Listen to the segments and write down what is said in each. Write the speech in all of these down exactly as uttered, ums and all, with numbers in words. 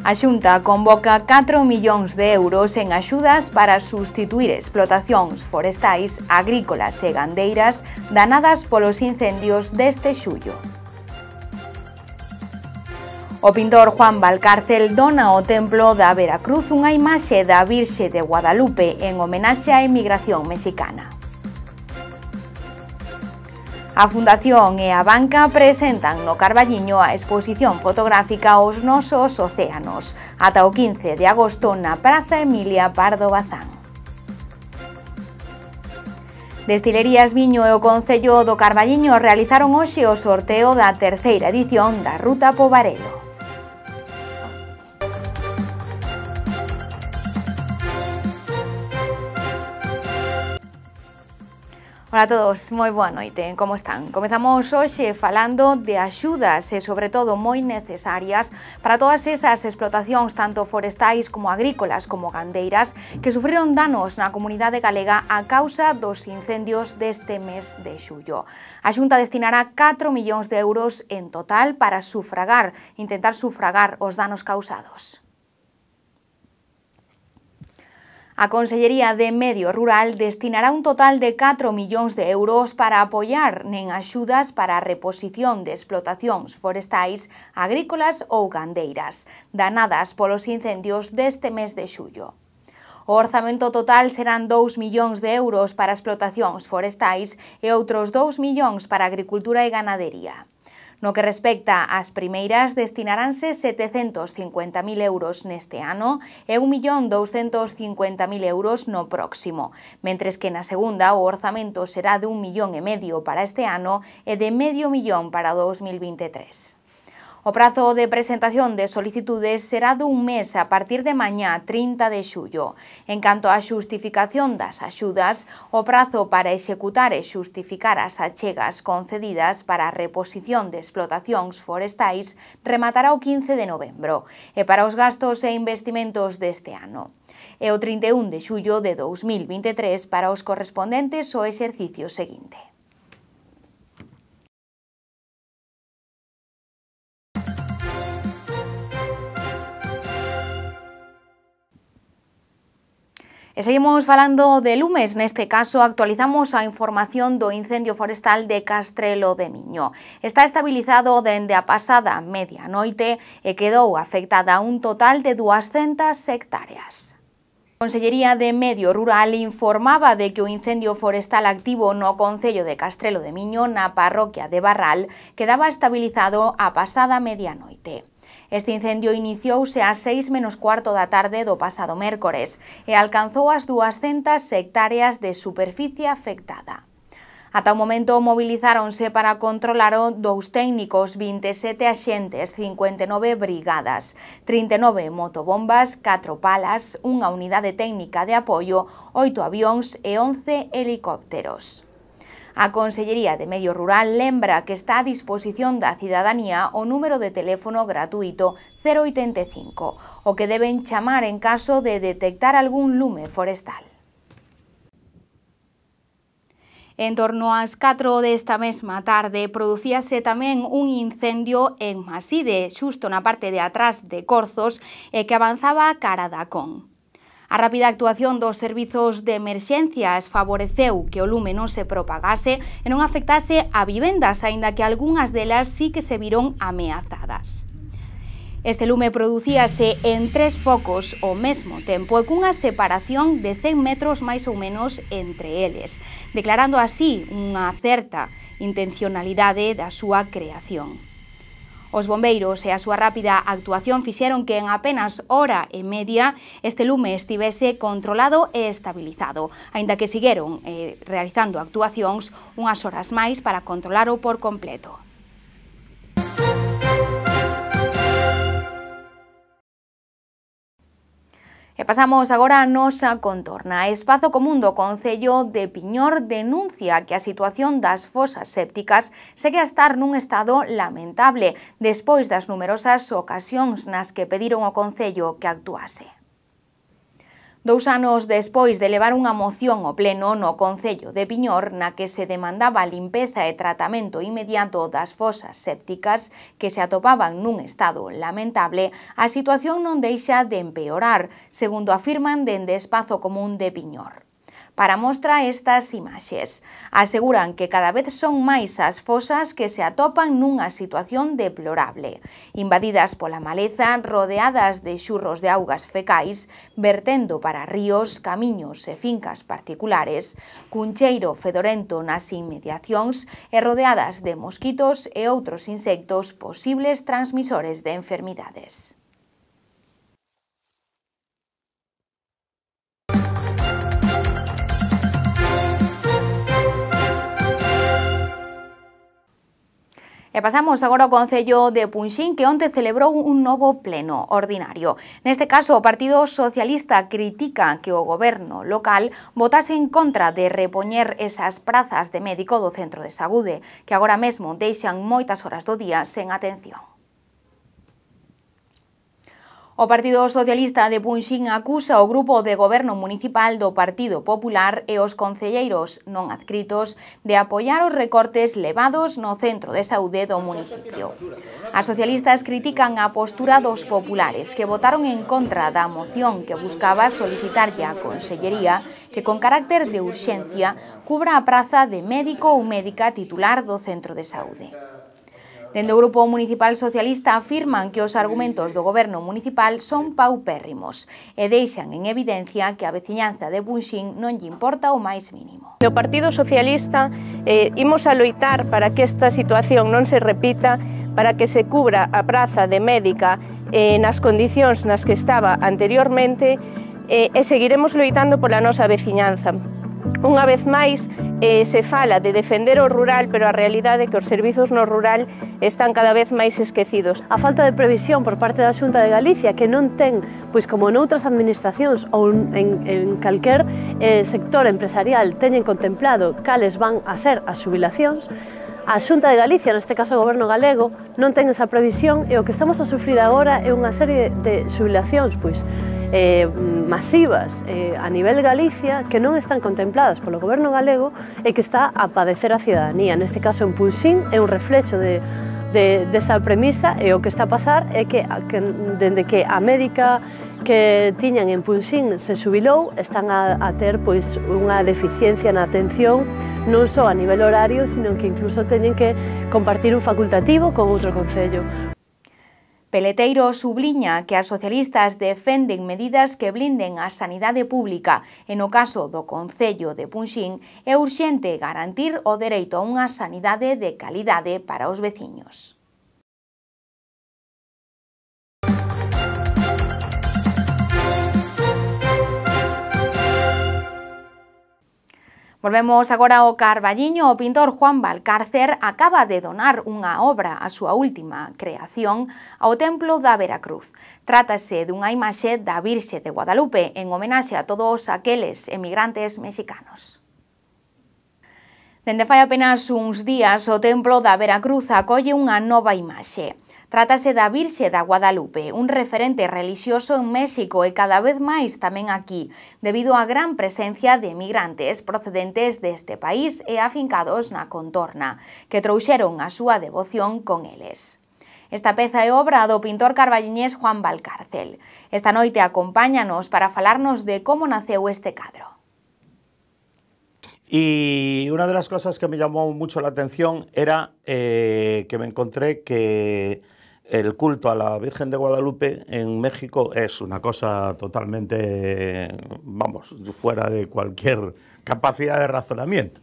A Xunta convoca catro millóns de euros en axudas para sustituir explotacións forestais, agrícolas e gandeiras danadas polos incendios deste xullo. O pintor Juan Valcárcel dona ao Templo da Veracruz unha imaxe da Virxe de Guadalupe en homenaxe á emigración mexicana. A Fundación e a Banca presentan no Carballiño a exposición fotográfica Os nosos océanos, ata o quince de agosto na Praza Emilia Pardo Bazán. Destilerías Viño e o Concello do Carballiño realizaron hoxe o sorteo da terceira edición da Ruta Pobarelo. Ola a todos, moi boa noite, como están? Comezamos hoxe falando de axudas e sobre todo moi necesarias para todas esas explotacións tanto forestais como agrícolas como gandeiras que sufriron danos na comunidade galega a causa dos incendios deste mes de xullo. A Xunta destinará catro millóns de euros en total para sufragar, intentar sufragar os danos causados. A Consellería de Medio Rural destinará un total de catro millóns de euros para apoiar nen axudas para a reposición de explotacións forestais, agrícolas ou gandeiras, danadas polos incendios deste mes de xullo. O orzamento total serán dous millóns de euros para explotacións forestais e outros dous millóns para agricultura e ganadería. No que respecta ás primeiras, destinaránse setecentos cincuenta mil euros neste ano e un millón douscentos cincuenta mil euros no próximo, mentres que na segunda o orzamento será de un millón e medio para este ano e de medio millón para o dous mil vinte e tres. O prazo de presentación de solicitudes será dun mes a partir de mañá trinta de xullo. En canto á xustificación das axudas, o prazo para executar e xustificar as achegas concedidas para a reposición de explotacións forestais rematará o quince de novembro e para os gastos e investimentos deste ano. E o trinta e un de xullo de dous mil vinte e tres para os correspondentes ao exercicio seguinte. E seguimos falando de lumes, neste caso actualizamos a información do incendio forestal de Castrelo de Miño. Está estabilizado dende a pasada medianoite e quedou afectada un total de duascentas hectáreas. A Consellería de Medio Rural informaba de que o incendio forestal activo no concello de Castrelo de Miño, na parroquia de Barral, quedaba estabilizado a pasada medianoite. Este incendio iniciouse ás seis menos cuarto da tarde do pasado mércores e alcanzou as duascentas hectáreas de superficie afectada. Ata o momento movilizáronse para controlalo dous técnicos, vinte e sete axentes, cincuenta e nove brigadas, trinta e nove motobombas, catro palas, unha unidade técnica de apoio, oito avións e once helicópteros. A Consellería de Medio Rural lembra que está a disposición da cidadanía o número de teléfono gratuito cero oitenta e cinco, o que deben chamar en caso de detectar algún lume forestal. En torno ás catro desta mesma tarde producíase tamén un incendio en Maside, xusto na parte de atrás de Corzos, e que avanzaba cara da Con. A rápida actuación dos servizos de emerxencias favoreceu que o lume non se propagase e non afectase a vivendas, aínda que algunhas delas sí que se viron ameazadas. Este lume producíase en tres focos ao mesmo tempo e cunha separación de cen metros máis ou menos entre eles, declarando así unha certa intencionalidade da súa creación. Os bombeiros e a súa rápida actuación fixeron que en apenas hora e media este lume estivese controlado e estabilizado, aínda que seguiron eh, realizando actuacións unhas horas máis para controlalo por completo. E pasamos agora a nosa contorna. A Espazo Común do Concello de Piñor denuncia que a situación das fosas sépticas segue a estar nun estado lamentable despois das numerosas ocasións nas que pediron ao Concello que actuase. Dous anos despois de levar unha moción ao pleno no Concello de Piñor na que se demandaba a limpeza e tratamento inmediato das fosas sépticas que se atopaban nun estado lamentable, a situación non deixa de empeorar, segundo afirman dende Espazo Común de Piñor. Para mostra estas imaxes, aseguran que cada vez son máis as fosas que se atopan nunha situación deplorable, invadidas pola maleza, rodeadas de xurros de augas fecais, vertendo para ríos, camiños e fincas particulares, cun cheiro fedorento nas inmediacións e rodeadas de mosquitos e outros insectos posibles transmisores de enfermidades. E pasamos agora ao Concello de Punxín, que onte celebrou un novo pleno ordinario. Neste caso, o Partido Socialista critica que o goberno local votase en contra de repoñer esas prazas de médico do centro de saúde, que agora mesmo deixan moitas horas do día sen atención. O Partido Socialista de Punxín acusa o grupo de goberno municipal do Partido Popular e os concelleiros non adscritos de apoiar os recortes levados no centro de saúde do municipio. As socialistas critican a postura dos populares que votaron en contra da moción que buscaba solicitarlle á Consellería que con carácter de urxencia cubra a praza de médico ou médica titular do centro de saúde. Dende o Grupo Municipal Socialista afirman que os argumentos do goberno municipal son paupérrimos e deixan en evidencia que a veciñanza de Punxín non lle importa o máis mínimo. No Partido Socialista eh, imos a loitar para que esta situación non se repita, para que se cubra a praza de médica eh, nas condicións nas que estaba anteriormente eh, e seguiremos loitando pola nosa veciñanza. Unha vez máis, eh, se fala de defender o rural, pero a realidade é que os servizos no rural están cada vez máis esquecidos. A falta de previsión por parte da Xunta de Galicia, que non ten, pois como noutras administracións ou en, en calquer eh, sector empresarial teñen contemplado cales van a ser as xubilacións, a Xunta de Galicia, neste caso o Goberno galego, non ten esa previsión e o que estamos a sufrir agora é unha serie de xubilacións, pois, Eh, masivas eh, a nivel Galicia que non están contempladas polo goberno galego e que está a padecer a cidadanía. Neste caso en Punxín é un reflexo de, de, desta premisa e o que está a pasar é que, que dende que a médica que tiñan en Punxín se xubilou, están a, a ter pois unha deficiencia na atención non só a nivel horario, sino que incluso teñen que compartir un facultativo con outro concello. Peleteiro subliña que as socialistas defenden medidas que blinden a sanidade pública e no caso do Concello de Punxín é urxente garantir o dereito a unha sanidade de calidade para os veciños. Volvemos agora ao Carballiño. O pintor Juan Valcárcer acaba de donar unha obra, a súa última creación, ao Templo da Veracruz. Trátase dunha imaxe da Virxe de Guadalupe en homenaxe a todos aqueles emigrantes mexicanos. Dende fai apenas uns días, o Templo da Veracruz acolle unha nova imaxe. Trátase da Virxe da Guadalupe, un referente relixioso en México e cada vez máis tamén aquí, debido á gran presencia de emigrantes procedentes deste país e afincados na contorna, que trouxeron a súa devoción con eles. Esta peza é obra do pintor carballiñés Juan Valcárcer. Esta noite acompáñanos para falarnos de como naceu este cadro. Y una de las cosas que me llamó mucho la atención era eh, que me encontré que el culto a la Virgen de Guadalupe en México es una cosa totalmente, vamos, fuera de cualquier capacidad de razonamiento,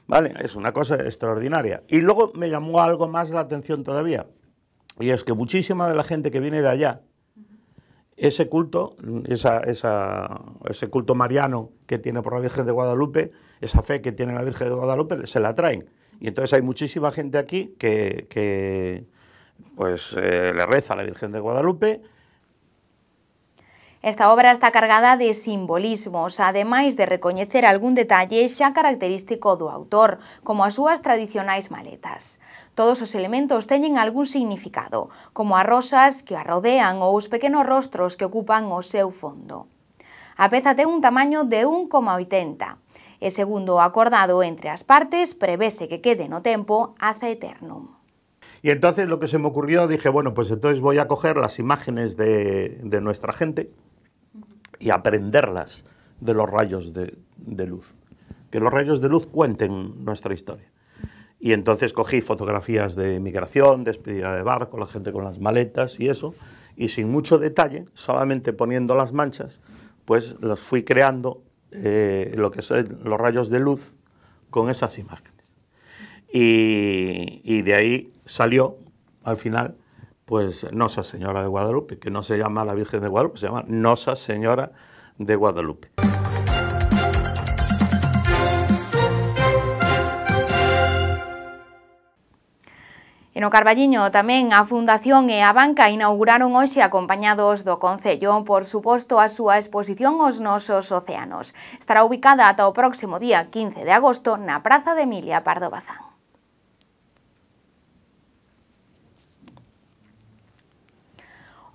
¿vale? Es una cosa extraordinaria. Y luego me llamó algo más la atención todavía, y es que muchísima de la gente que viene de allá, ese culto, esa, esa, ese culto mariano que tiene por la Virgen de Guadalupe, esa fe que tiene la Virgen de Guadalupe, se la traen. Y entonces hay muchísima gente aquí que, que pues, eh, le reza a la Virgen de Guadalupe. Esta obra está cargada de simbolismos, ademais de recoñecer algún detalle xa característico do autor, como as súas tradicionais maletas. Todos os elementos teñen algún significado, como as rosas que a rodean ou os pequenos rostros que ocupan o seu fondo. A peza ten un tamaño de un coma oitenta e, segundo o acordado entre as partes, prevese que quede no tempo ad eternum. Y entonces lo que se me ocurrió, dije, bueno, pues entonces voy a coger las imágenes de, de nuestra gente y aprenderlas de los rayos de, de luz. Que los rayos de luz cuenten nuestra historia. Y entonces cogí fotografías de migración, despedida de barco, la gente con las maletas y eso, y sin mucho detalle, solamente poniendo las manchas, pues los fui creando eh, lo que son los rayos de luz con esas imágenes. Y, y de ahí salió, al final, pues Nosa Señora de Guadalupe, que no se llama la Virgen de Guadalupe, se llama Nosa Señora de Guadalupe. E no Carballiño tamén a Fundación e a Banca inauguraron hoxe acompañados do Concello, por suposto, a súa exposición Os Nosos Océanos. Estará ubicada ata o próximo día quince de agosto na Praza de Emilia Pardo Bazán.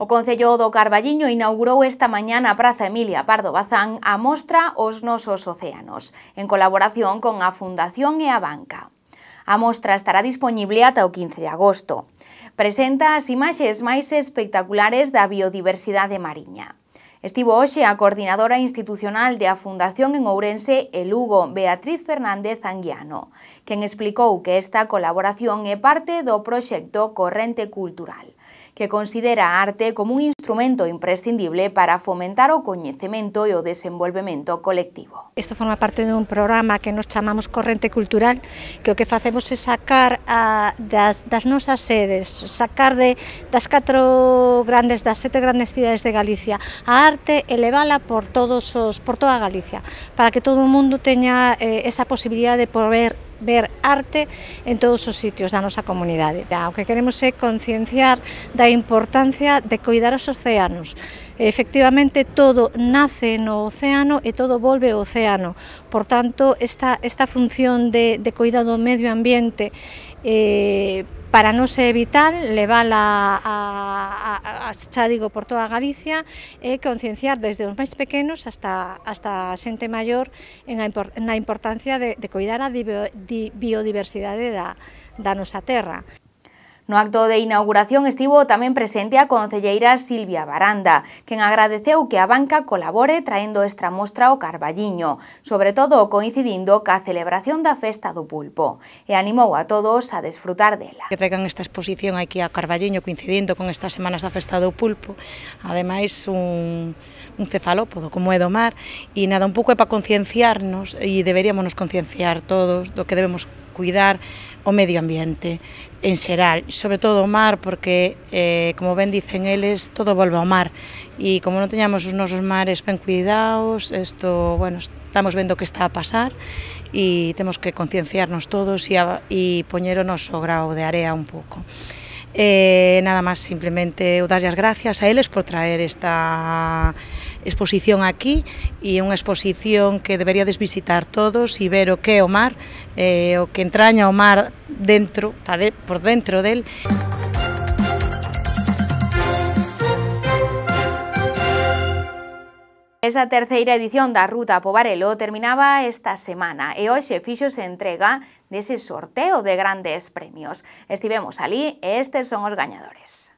O Concello do Carballiño inaugurou esta mañá na Praza Emilia Pardo Bazán a mostra Os Nosos Océanos, en colaboración con a Fundación e a Banca. A mostra estará dispoñible ata o quince de agosto. Presenta as imaxes máis espectaculares da biodiversidade mariña. Estivo hoxe a coordinadora institucional de a Fundación en Ourense e Lugo, Beatriz Fernández Anguiano, quen explicou que esta colaboración é parte do proxecto Corrente Cultural, que considera a arte como un instrumento imprescindible para fomentar o coñecemento e o desenvolvemento colectivo. Isto forma parte dun programa que nos chamamos Corrente Cultural, que o que facemos é sacar a, das, das nosas sedes, sacar de, das catro grandes, das sete grandes cidades de Galicia, a arte e levala por, todos os, por toda Galicia, para que todo o mundo teña eh, esa posibilidade de poder ver arte en todos os sitios da nosa comunidade. O que queremos é concienciar da importancia de coidar os océanos. Efectivamente, todo nace no océano e todo volve ao océano. Por tanto, esta, esta función de, de cuidado do medio ambiente eh, para nós é vital, levala a, a, a, xa digo, por toda Galicia e concienciar desde os máis pequenos hasta, hasta a xente maior en a, na importancia de, de cuidar a di, di, biodiversidade da, da nosa terra. No acto de inauguración estivo tamén presente a concelleira Silvia Baranda, quen agradeceu que a Banca colabore traendo esta mostra ao Carballiño, sobre todo coincidindo ca celebración da Festa do Pulpo, e animou a todos a desfrutar dela. Que traigan esta exposición aquí a Carballiño coincidindo con estas semanas da Festa do Pulpo, ademais un, un cefalópodo como é do mar, e nada, un pouco é para concienciarnos, e deberíamos nos concienciar todos do que debemos cuidar o medio ambiente en xeral, sobre todo o mar, porque, eh, como ben dicen eles, todo volve ao mar, e como non teñamos os nosos mares ben cuidados, isto, bueno, estamos vendo que está a pasar, e temos que concienciarnos todos e, a, e poñer o noso grao de area un pouco. Eh, nada máis, simplemente darlle as gracias a eles por traer esta exposición aquí, e unha exposición que deberíades visitar todos e ver o que é o mar, eh, o que entraña o mar dentro, por dentro del. Esa terceira edición da Ruta Pobarelo terminaba esta semana e hoxe fíxose entrega dese sorteo de grandes premios. Estivemos ali e estes son os gañadores.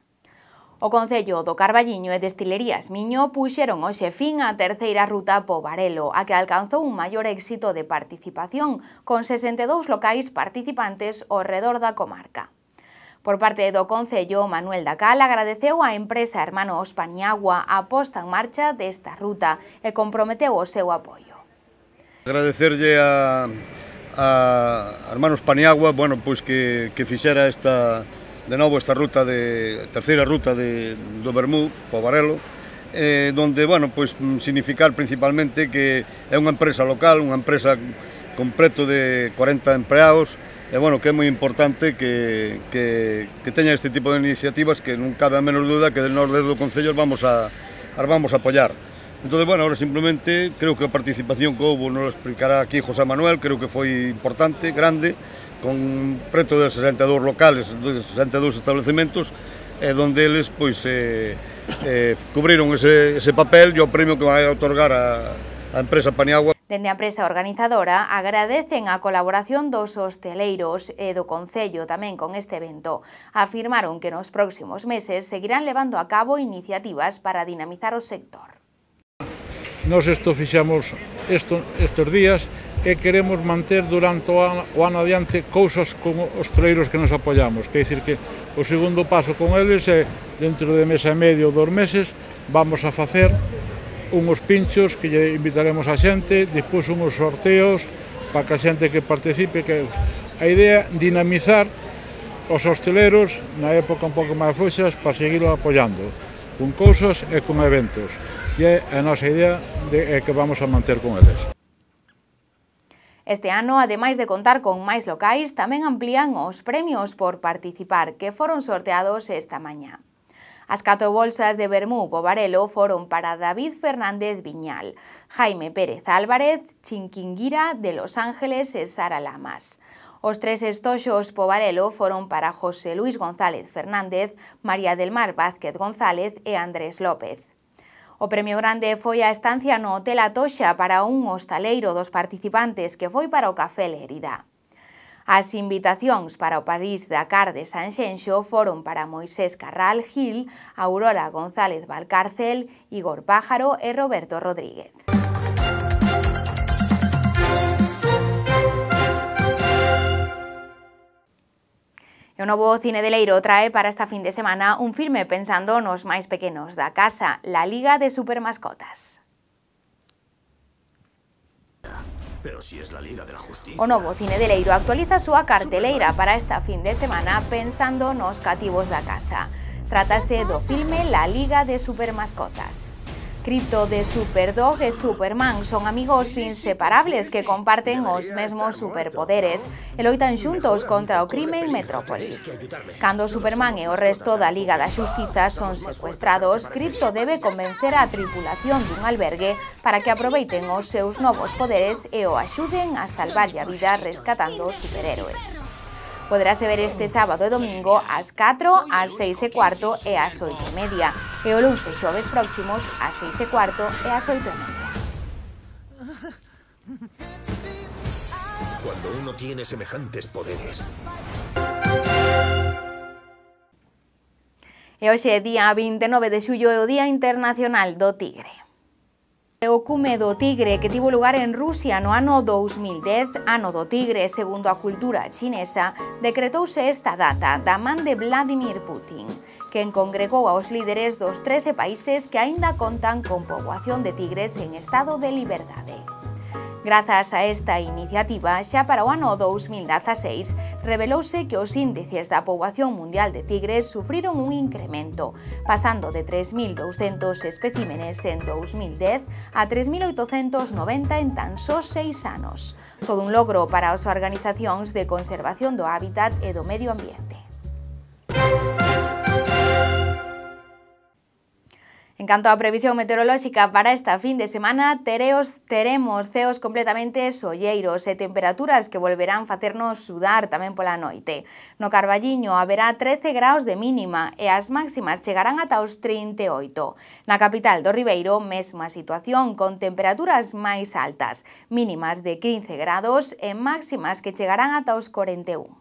O Concello do Carballiño e Destilerías Miño puxeron hoxe fin á terceira Ruta Pobarelo, a que alcanzou un maior éxito de participación, con sesenta e dous locais participantes ao redor da comarca. Por parte do Concello, Manuel Dacal agradeceu á empresa Hermanos Paniagua a posta en marcha desta ruta e comprometeu o seu apoio. Agradecerlle a, a Hermanos Paniagua, bueno, pois que, que fixera esta de novo esta ruta de terceira ruta de do Bermú, Pobarelo, eh, donde, bueno, pois significar principalmente que é unha empresa local, unha empresa con preto de corenta empleados, e, bueno, que é moi importante que, que, que teña este tipo de iniciativas que non cabe a menos duda que nós desde o Concello vamos a, as vamos a apoiar. Entón, bueno, ahora simplemente creo que a participación que houve, nos lo explicará aquí José Manuel, creo que foi importante, grande, con preto de sesenta e dous locales, de sesenta e dous establecementos, eh, donde eles pois, eh, eh, cubriron ese, ese papel e o premio que vai a otorgar a, a empresa Paniagua. Dende a empresa organizadora agradecen a colaboración dos hosteleiros e do Concello tamén con este evento. Afirmaron que nos próximos meses seguirán levando a cabo iniciativas para dinamizar o sector. Nos isto fixamos esto, estes días e queremos manter durante o ano, o ano adiante cousas con os hosteleiros que nos apoiamos. Quer dicir que o segundo paso con eles é, dentro de mes e medio ou dos meses, vamos a facer unhos pinchos que lle invitaremos a xente, despois unhos sorteos para que a xente que participe, que a idea é dinamizar os hosteleiros na época un pouco máis fluxas para seguir apoiando con cousas e con eventos. E é a nosa idea de, é que vamos a manter con eles. Este ano, ademais de contar con máis locais, tamén amplían os premios por participar, que foron sorteados esta mañá. As catro bolsas de vermú Pobarelo foron para David Fernández Viñal, Jaime Pérez Álvarez, Chinquinguira de Los Ángeles e Sara Lamas. Os tres estoxos Pobarelo foron para José Luis González Fernández, María del Mar Vázquez González e Andrés López. O premio grande foi a estancia no Hotel Atoxa para un hostaleiro dos participantes que foi para o Café Lérida. As invitacións para o París-Dakar de Sanxenxo foron para Moisés Carral Gil, Aurora González Valcárcel, Igor Pájaro e Roberto Rodríguez. E o novo Cine de Leiro trae para esta fin de semana un filme pensando nos máis pequenos da casa, La Liga de Supermascotas. Pero si es la Liga de la Justicia. O novo Cine de Leiro actualiza a súa carteleira para esta fin de semana pensando nos cativos da casa. Trátase do filme La Liga de Supermascotas. Crypto de Superdog e Superman son amigos inseparables que comparten os mesmos superpoderes e loitan xuntos contra o crime en Metrópolis. Cando Superman e o resto da Liga da Xustiza son secuestrados, Crypto debe convencer a tripulación dun albergue para que aproveiten os seus novos poderes e o axuden a salvarlle a vida rescatando superhéroes. Poderase ver este sábado e domingo ás catro, ás seis e cuarto e ás oito e media, e o luns e xoves próximos ás seis e cuarto e ás oito e media. Cuando uno tiene semejantes poderes. E hoxe, día vinte e nove de xullo, é o Día Internacional do Tigre. O cume do tigre que tivo lugar en Rusia no ano dous mil dez, ano do tigre, segundo a cultura chinesa, decretouse esta data da man de Vladimir Putin, quen congregou aos líderes dos trece países que aínda contan con poboación de tigres en estado de liberdade. Grazas a esta iniciativa, xa para o ano dous mil dezaseis, revelouse que os índices da poboación mundial de tigres sufriron un incremento, pasando de tres mil douscentos especímenes en dous mil dez a tres mil oitocentos noventa en tan só seis anos. Todo un logro para as organizacións de conservación do hábitat e do medio ambiente. En canto á previsión meteorolóxica para esta fin de semana, tereos, teremos ceos completamente solleiros e temperaturas que volverán facernos sudar tamén pola noite. No Carballiño haberá trece graus de mínima e as máximas chegarán ata os trinta e oito. Na capital do Ribeiro, mesma situación con temperaturas máis altas, mínimas de quince grados e máximas que chegarán ata os corenta e un.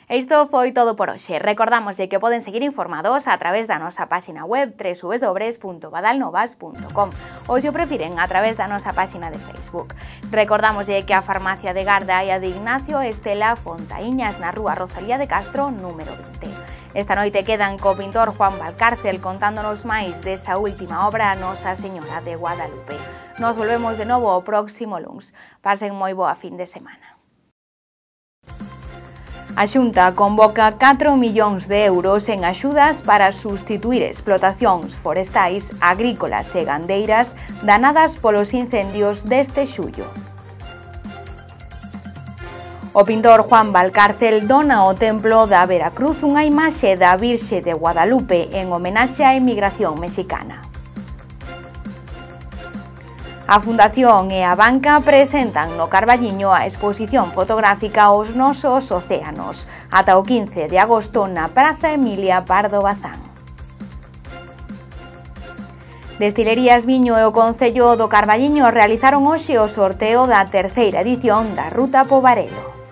E isto foi todo por hoxe. Recordamos que poden seguir informados a través da nosa páxina web w w w punto badalnovas punto com ou, se o prefiren, a través da nosa páxina de Facebook. Recordamos que a farmacia de Garda e a de Ignacio Estela Fontaíñas na rúa Rosalía de Castro, número vinte. Esta noite quedan co pintor Juan Valcárcel contándonos máis desa última obra, Nosa Señora de Guadalupe. Nos volvemos de novo o próximo luns. Pasen moi boa fin de semana. A Xunta convoca catro millóns de euros en axudas para sustituir explotacións forestais, agrícolas e gandeiras danadas polos incendios deste xullo. O pintor Juan Valcárcel dona ao Templo da Veracruz unha imaxe da Virxe de Guadalupe en homenaxe á emigración mexicana. A Fundación e a Banca presentan no Carballiño a exposición fotográfica Os nosos océanos, ata o quince de agosto na Praza Emilia Pardo Bazán. Destilerías Viño e o Concello do Carballiño realizaron hoxe o sorteo da terceira edición da Ruta Pobarelo.